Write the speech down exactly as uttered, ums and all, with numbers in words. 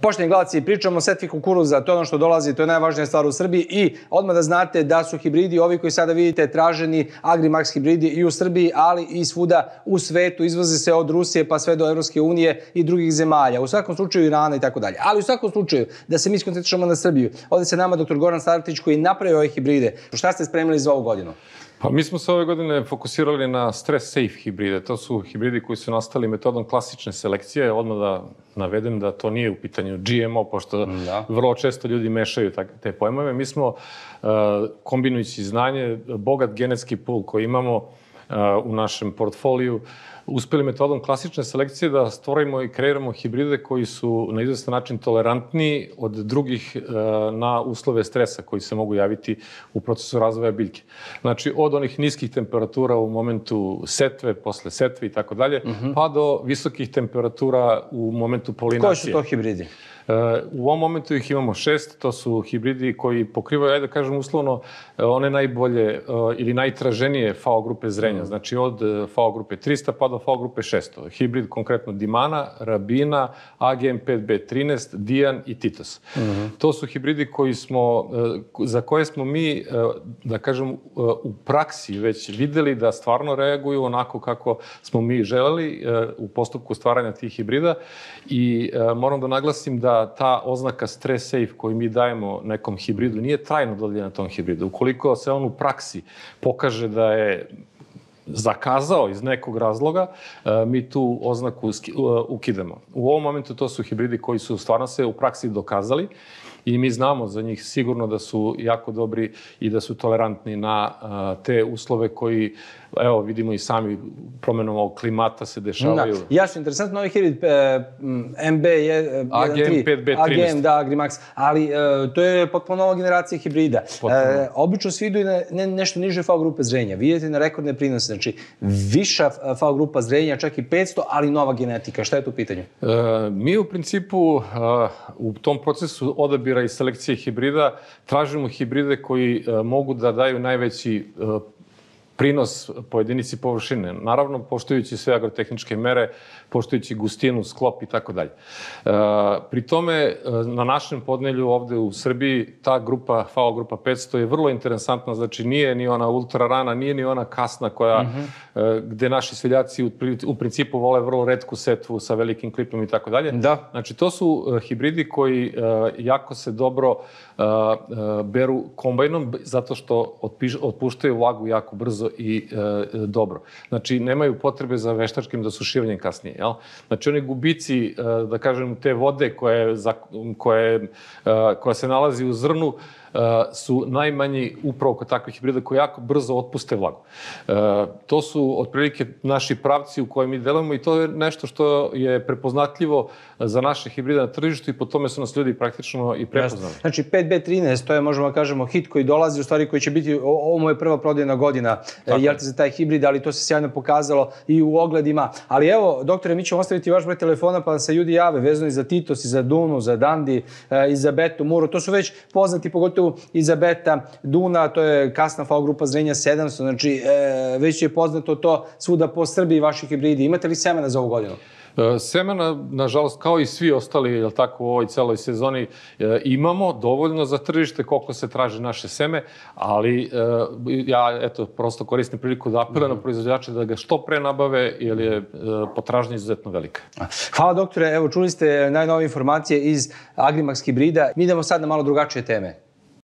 Poštovani gledalci, pričamo o setvi kukuruza, to je ono što dolazi, to je najvažnija stvar u Srbiji i odmah da znate da su hibridi, ovi koji sada vidite, traženi Agrimax hibridi i u Srbiji, ali i svuda u svetu, izvoze se od Rusije pa sve do Evropske unije i drugih zemalja, u svakom slučaju Irana i tako dalje. Ali u svakom slučaju, da se mi skoncentrišemo na Srbiju, ovdje se nama doktor Goran Startić koji napravio ove hibride. Šta ste spremili za ovu godinu? Pa mi smo se ove godine fokusirali na stress safe hibride. To su hibridi koji su nastali metodom klasične selekcije. Odmah da navedem da to nije u pitanju G M O, pošto da. vrlo često ljudi mešaju te pojmove. Mi smo, uh, kombinujući znanje, bogat genetski pool koji imamo uh, u našem portfoliju, uspeli metodom klasične selekcije da stvorimo i kreiramo hibride koji su na izvestan način tolerantniji od drugih na uslove stresa koji se mogu javiti u procesu razvoja biljke. Znači, od onih niskih temperatura u momentu setve, posle setve i tako dalje, pa do visokih temperatura u momentu polinacije. Koji su to hibridi? U ovom momentu ih imamo šest, to su hibridi koji pokrivaju, ajde da kažem uslovno, one najbolje ili najtraženije F A O grupe zrenja, znači od F A O grupe trista pa do F A O grupe šesto. Hibrid konkretno Dimana, Rabina, A G M pet B trinaest, Dijan i Titos. To su hibridi koji smo, za koje smo mi, da kažem, u praksi već videli da stvarno reaguju onako kako smo mi želeli u postupku stvaranja tih hibrida i moram da naglasim da ta oznaka stress safe koju mi dajemo nekom hibridu nije trajno dodeljena tom hibridu. Ukoliko se on u praksi pokaže da je zakazao iz nekog razloga, mi tu oznaku ukidamo. U ovom momentu to su hibridi koji su stvarno se u praksi dokazali i mi znamo za njih sigurno da su jako dobri i da su tolerantni na te uslove koji, evo, vidimo i sami promjenom ovog klimata se dešavaju. Jasno, interesantno, ovaj hibrid M B je A G M pet B trinaest. A G M, da, Agrimax, ali to je potpuno nova generacija hibrida. Obično svi idu i na nešto niže F A O grupe zrenja. Vidite na rekordne prinose, znači viša F A O grupa zrenja, čak i petsto, ali nova genetika. Šta je tu u pitanju? Mi u principu u tom procesu odabira i selekcije hibrida tražimo hibride koji mogu da daju najveći prinos po jedinici površine. Naravno, poštujući sve agrotehničke mere, poštujući gustinu, sklop i tako dalje. Pri tome, na našem podnelju ovde u Srbiji, ta grupa, F A O grupa petsto je vrlo interesantna, znači nije ni ona ultra rana, nije ni ona kasna koja, gde naši seljaci u principu vole vrlo retku setvu sa velikim klipom i tako dalje. Da. Znači, to su hibridi koji jako se dobro beru kombajnom, zato što otpuštaju vlagu jako brzo i dobro. Znači, nemaju potrebe za veštačkim dosušivanjem kasnije. Znači, oni gubici, da kažem, te vode koja se nalazi u zrnu su najmanji upravo kod takvih hibrida koji jako brzo otpuste vlagu. To su otprilike naši pravci u kojima mi delujemo i to je nešto što je prepoznatljivo za naše hibride na tržištu i po tome su nas ljudi praktično i prepoznali. Znači, pet B trinaest, to je, možemo da kažemo, hit koji dolazi, u stvari koji će biti, ovo mu je prva prodajna godina, jel te za taj hibrid, ali to se sjajno pokazalo i u ogledima. Ali evo, doktore, mi ćemo ostaviti vaš broj telefona pa da se ljudi jave, vezano i za Titos, i za Dunu, za Dandi, i za Betu, Muru, to su već poznati, pogotovo Izabeta, Duna, to je kasna F A O grupa zrenja sedamsto, znači već je poznato to svuda po Srbiji vaši hibridi. Imate li semena za ovu godinu? Semena, nažalost, kao i svi ostali, jel tako, u ovoj celoj sezoni imamo dovoljno za tržište koliko se traži naše seme, ali ja, eto, prosto koristim priliku da apelujem na proizvođače da ga što pre nabave, jer je potražnja izuzetno velika. Hvala, doktore. Evo, čuli ste najnovije informacije iz Agrimax hibrida. Mi idemo sad na malo drugačije teme.